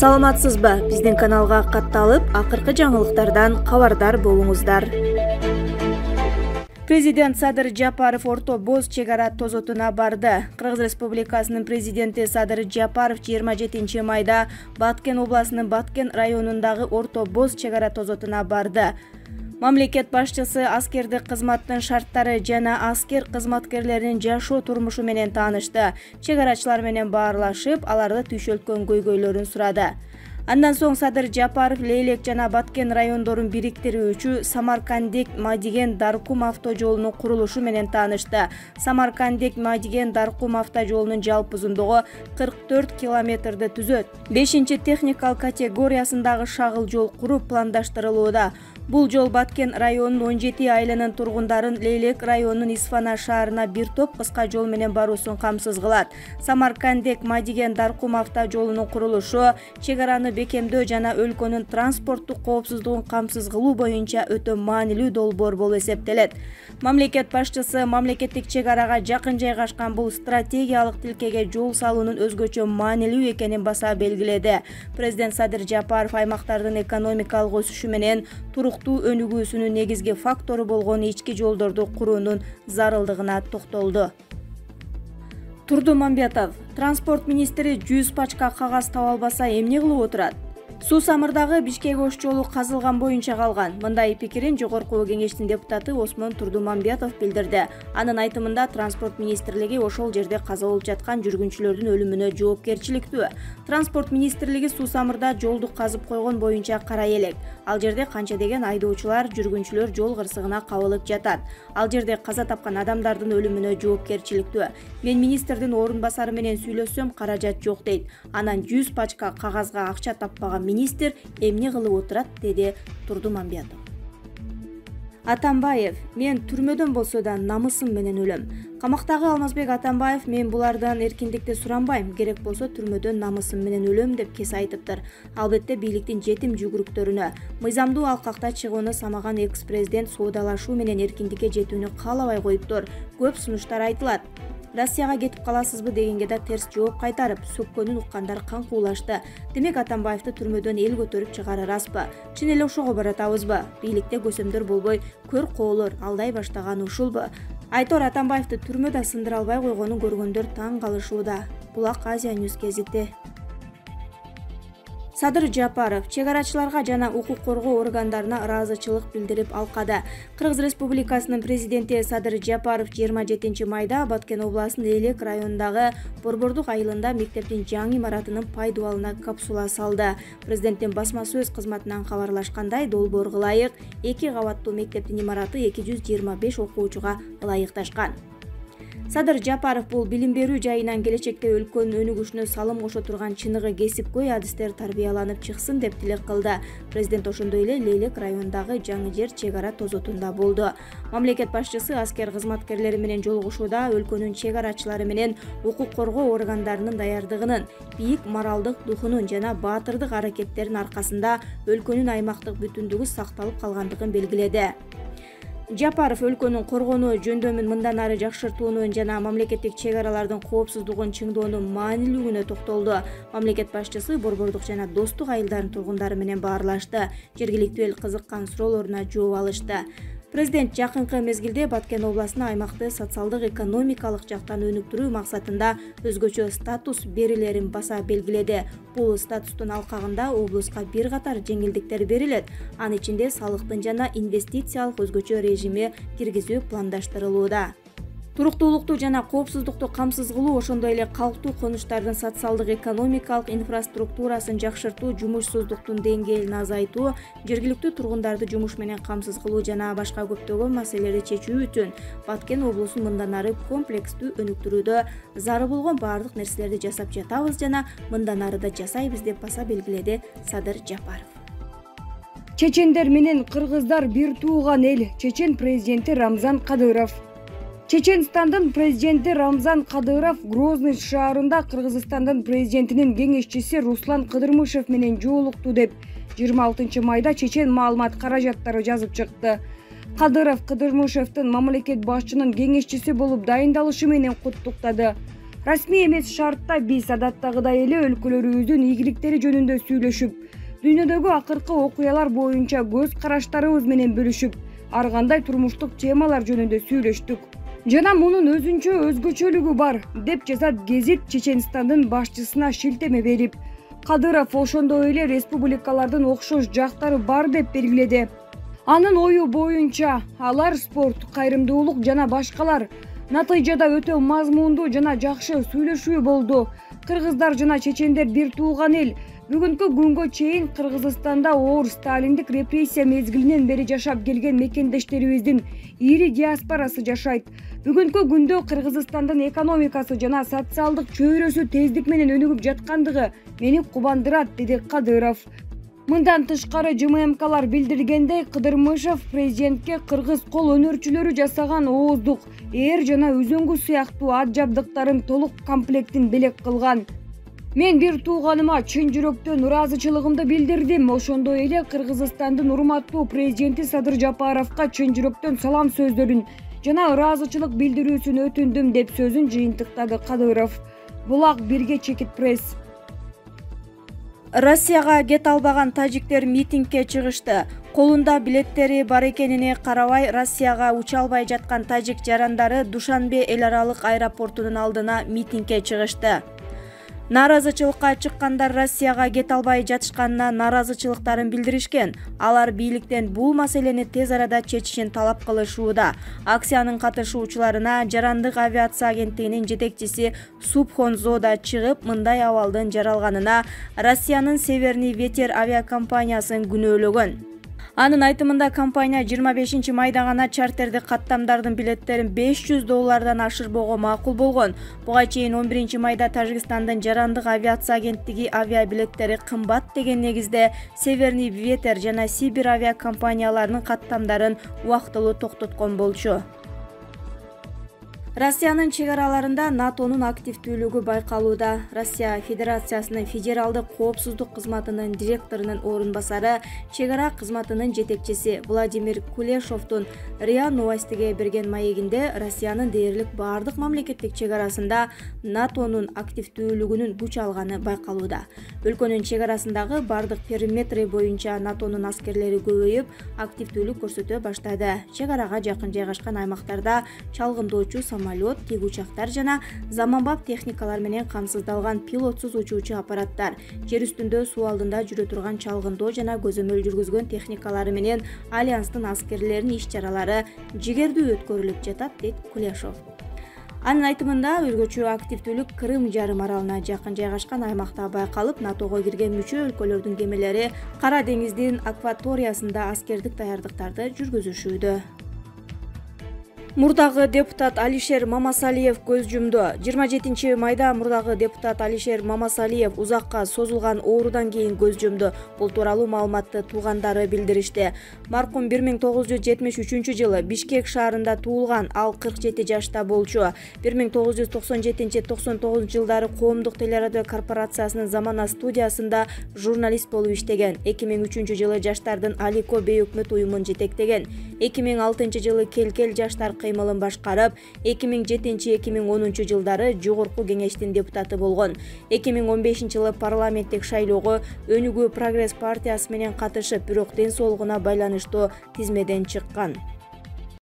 Саламатсызбы? Биздин каналга катталып, акыркы жаңылыктардан кабардар болуңуздар. Президент Садыр Жапаров Орто Боз чек ара тозотуна барды. Кыргыз Республикасынын президенти Садыр Жапаров 27 майда Баткен областынын Баткен районундагы Орто Боз чек ара тозотуна барды. Мамлекет башчысы аскердик кызматтын шарттары жана аскер кызматкерлеринин жашоо турмушу менен таанышты. Чек арачылар менен баарлашып, аларды түйшөлткөн көйгөйлөрүн сурады. Андан соң Садыр Жапаров Лейлек жана Баткен райондорун бириктирүүчү Самаркандек-Мадиген Даркум автожолунун курулушу менен таанышты. Самаркандек-Мадиген Даркум автожолунун жалпы узундугу 44 километрди түзөт. 5-техникалык категориясындагы шагыл жол куруу пландаштырылууда. Бул жол Баткен районунун 17 айылынын тургундарын Лейлек районунун Исфана шаарына бир топ кыска жол менен баруусун камсыз кылат. Самаркандек-Мадиген Даркум автожолунун курулушу чек араны бекемдөө жана өлкөнүн транспорттук коопсуздугун камсыз кылуу боюнча өтө маанилүү долбоор болуп эсептелет. Мамлекет башчысы мамлекеттик чек арага жакын жайгашкан бул стратегиялык тилкеге жол салуунун өзгөчө маанилүү экенин баса белгиледи. Президент Садыр Жапаров аймактардын экономикалык өсүшү менен туруктуу өнүгүүсүнүн негизги фактору болгон ички жолдорду куруунун зарылдыгына токтолду. Турдумамбетов: транспорт министри 100 пачка кагаз таба албаса эмне кылып отурат? Суу Самырдагы Бишкек-Ош жолу казылган боюнча калган. Мындай пикирин Жогорку Кеңештин депутаты Осмон Турдумамбетов билдирди. Анын айтымында транспорт министрлиги ошол жерде каза болуп жаткан жүргүнчүлөрдүн өлүмүнө жоопкерчиликтүү. Транспорт министрлиги Суу Самырда жолду казып койгон боюнча карай элек. Ал жерде канча деген айдоочулар, жүргүнчүлөр жол кырсыгына кабылып жатат. Ал жерде каза тапкан адамдардын өлүмүнө жоопкерчиликтүү. Мен министрдин орун басары менен сүйлөшсөм, каражат жок дейт. Анан 100 пачка кагазга акча таппаган министр эмне кылып отурат, деди Турдумамбетов. Атамбаев: мен түрмөдөн болсо да намысым менен өлөм. Камактагы Алмазбек Атамбаев: мен булардан эркиндикти суранбайм, керек болсо түрмөдөн намысым менен өлөм деп кесе айтыптыр. Албетте бийликтин жетим жүгүрүктөрүнө, мыйзамдуу алкакта чыгууну самаган экс-президент соодалашуу менен эркиндикке жетүүнү каалабай коюптур. Көп сунуштар айтылат. Россияга кетип каласызбы дегенге да терс жооп кайтарып, сөккөнүн уккандар кан куулашты. Демек Атамбаевди түрмөдөн эл көтөрүп чыгары распы? Чын эле ошого баратабызбы? Бийликте көсөмдөр болбой, көр коолор алдай баштаган ушулбу? Айтор Атамбаевди түрмөдө сындыра албай койгонун көргөндөр таң калышууда. Булак Азия Ньюс гезити. Садыр Жапаров чек арачыларга жана укук коргоо органдарына ыраазычылык билдирип алкада. Кыргыз Республикасынын президенти Садыр Жапаров 27 майда Баткен областынын Лейлек районундагы Борбордук айылында мектептин жаңы имаратынын пайдубалына капсула салды. Президенттин басма сөз кызматынан кабарлашкандай, долбоорго ылайык 2 кабаттуу мектептин имараты 225 окуучуга ылайыкташкан. Садыр Жапаров бул билим берүү жайынан келечекте өлкөнүн өнүгүшүнө салым кошо турган чыныгы кесипкөй адистер тарбияланып чыксын деп тилек кылды. Президент ошондой эле Лейлек районундагы жаңы жер чек ара тозотунда болду. Мамлекет башчысы аскер кызматкерлери менен жолугушууда өлкөнүн чек арачылары менен укук коргоо органдарынын даярдыгынын, бийик моралдык духунун жана баатырдык аракеттеринин аркасында өлкөнүн аймактык бүтүндүгү сакталып калгандыгын белгиледи. Жапаров өлкөнүн коргонуу жөндөмүн мындан ары жакшыртуунун жана мамлекеттик чек аралардын коопсуздугун чыңдоонун маанилүүлүгүнө токтолду. Мамлекет башчысы Борбордук жана Достук айылдарынын тургундары менен баарлашты. Жергиликтүү эл кызыккан суроолоруна жооп алышты. Президент жакынкы мезгилде Баткен областына аймакты социалдык экономикалык жактан өнүктүрүү максатында өзгөчө статус берилерин баса белгиледи. Бул статустун алкагында облуска бир катар жеңилдиктер берилет. Анын ичинде салыктын жана инвестициялык өзгөчө режими киргизүү пландаштырылууда. Туруктуулукту жана коопсуздукту камсыз кылуу, ошондой эле калктуу конуштардын социалдык экономикалык инфраструктурасын жакшыртуу, жумушсуздуктун деңгээлин азайтуу, жергиликтүү тургундарды жумуш менен камсыз кылуу жана башка көптөгөн маселелерди чечүү үчүн Баткен облусун мындан ары комплекстүү өнүктүрүүдө зарыл болгон баардык нерселерди жасап жатабыз жана мындан ары да жасайбыз деп баса белгиледи Садыр Жапаров. Чечендер менен кыргыздар бир тууган эл. Чечен президенти Рамзан Кадыров. Чеченстандын президенти Рамзан Кадыров Грозный шаарында Кыргызстандын президентинин кеңешчиси Руслан Кыдырмышев менен жолукту деп 26 майда чечен маалымат каражаттары жазып чыкты. Кадыров Кыдырмышевдин мамлекет башчынын кеңешчиси болуп дайындалышы менен куттуктады. Расмий эмес шартта биз адаттагыдай эле өлкөлөрүбүздүн ийгиликтери жөнүндө сүйлөшүп, дүйнөдөгү акыркы окуялар боюнча көз караштарыбыз менен бөлүшүп, ар кандай турмуштук темалар жөнүндө сүйлөштүк. Жана мунун өзгөчөлүгү бар, деп жазат гезит Чеченстандын башчысына шилтеме берип. Кадыров ошондой эле республикалардын окшош жактары бар деп белгиледи. Анын ою боюнча, алар спорт, кайрымдуулук жана башкалар. Натыйжада өтө мазмундуу жана жакшы сүйлөшүү болду. Кыргыздар жана чечендер бир тууган эл. Бүгүнкү күнгө чейин Кыргызстанда оор сталиндик репрессия мезгилинен бери жашап келген мекендештерибиздин ири диаспорасы жашайт. Бүгүнкү күндө Кыргызстандын экономикасы жана социалдык чөйрөсү тездик менен өнүгүп жаткандыгы мени кубандырат, деди Кадыров. Мындан тышкары ЖММКлар билдиргендей, Кыдырмышев президентке кыргыз кол өнөрчүлөрү жасаган ооздук, ээр жана үзөңгү сыяктуу ат жабдыктарын толук комплектин белек кылган. Мен бир тууганыма чын жүрөктөн ыраазычылыгымды билдирдим. Ошондой эле Кыргызстандын урматтуу президенти Садыр Жапаровго чын жүрөктөн салам сөздөрүн жана ыраазычылык билдирүүсүн өтүндүм, деп сөзүн жыйынтыктады Кадыров. Булак бирге чекит пресс. Россияга кете албаган тажиктер митингге чыгышты. Колунда билеттери бар экенине карабай, Россияга уча албай жаткан тажик жарандары Душанбе эл аралык аэропортунун алдына митингге чыгышты. Нааразычылыкка чыккандар Россияга кете албай жатышканына нааразычылыктарын билдиришкен. Алар бийликтен бул маселени тез арада чечишин талап кылышууда. Акциянын катышуучуларына жарандык авиация агенттигинин жетекчиси Субхонзо да чыгып, мындай абалдын жаралганына Россиянын Северный ветер авиакомпаниясын күнөөлөгөн. Анын айтымында, компания 25 майда гана чартерди каттамдардын билеттерин $500 ашырбоого макул болгон. Буга чейин 11 майда Тажикстандын жарандык авиация агенттиги авиабилеттери кымбат деген негизде Северный ветер жана Сибир авиакомпанияларынын каттамдарын убактылуу токтоткон болчу. Россиянын чек араларында НАТОнун активдүүлүгү байкалууда. Россия Федерациясынын федералдык коопсуздук кызматынын директорунун орун басары, чек ара кызматынын жетекчиси Владимир Кулешовдун РИА Новостиге берген маегинде Россиянын дээрлик бардык мамлекеттик чек арасында НАТОнун активдүүлүгүнүн күч алганы байкалууда. Өлкөнүн чек арасындагы бардык периметри боюнча НАТОнун аскерлери көбөйүп, активдүүлүк көрсөтө баштады. Чек арага жакын жайгашкан аймактарда чалгындоочу самолет, тик учактар жана заманбап техникалар менен камсыздалган пилотсуз учуучу аппараттар, жер үстүндө суу алдында жүрө турган чалгындоо жана көзөмөл жүргүзгөн техникалары менен Альянстын аскерлеринин иш-чаралары жигердүү өткөрүлүп жатат, дейт Кулешов. Анын айтымында, өзгөчө активдүүлүк Крым жарым аралына жакын жайгашкан аймакта байкалып, НАТОго кирген мүчө өлкөлөрдүн кемелери Кара деңиздин акваториясында аскердик даярдыктарды жүргүзүшүүдө. Мурдагы депутат Алишер Мамасалиев көз жумду. 27 майда мурдагы депутат Алишер Мамасалиев узакка созулган оорудан кийин көз жумду. Бул тууралуу маалыматты туугандары билдиришти. Маркум 1973 жылы Бишкек шаарында туулган, ал 47 жашта болчу. 1997-99 жылдары коомдук телерадио корпорациясынын Замана студиясында журналист болуп иштеген. 2003 жылы жаштардын Алико бейөкмөт уюмун жетектеген. 2006 жылы Келкел жаштар кыймылын башкарып, 2007-2010 жылдары Жогорку кеңештин депутаты болгон. 2015 жылы парламенттик шайлоого Өнүгүү Прогресс партиясы менен катышып, бирок ден соолугуна байланыштуу тизмеден чыккан.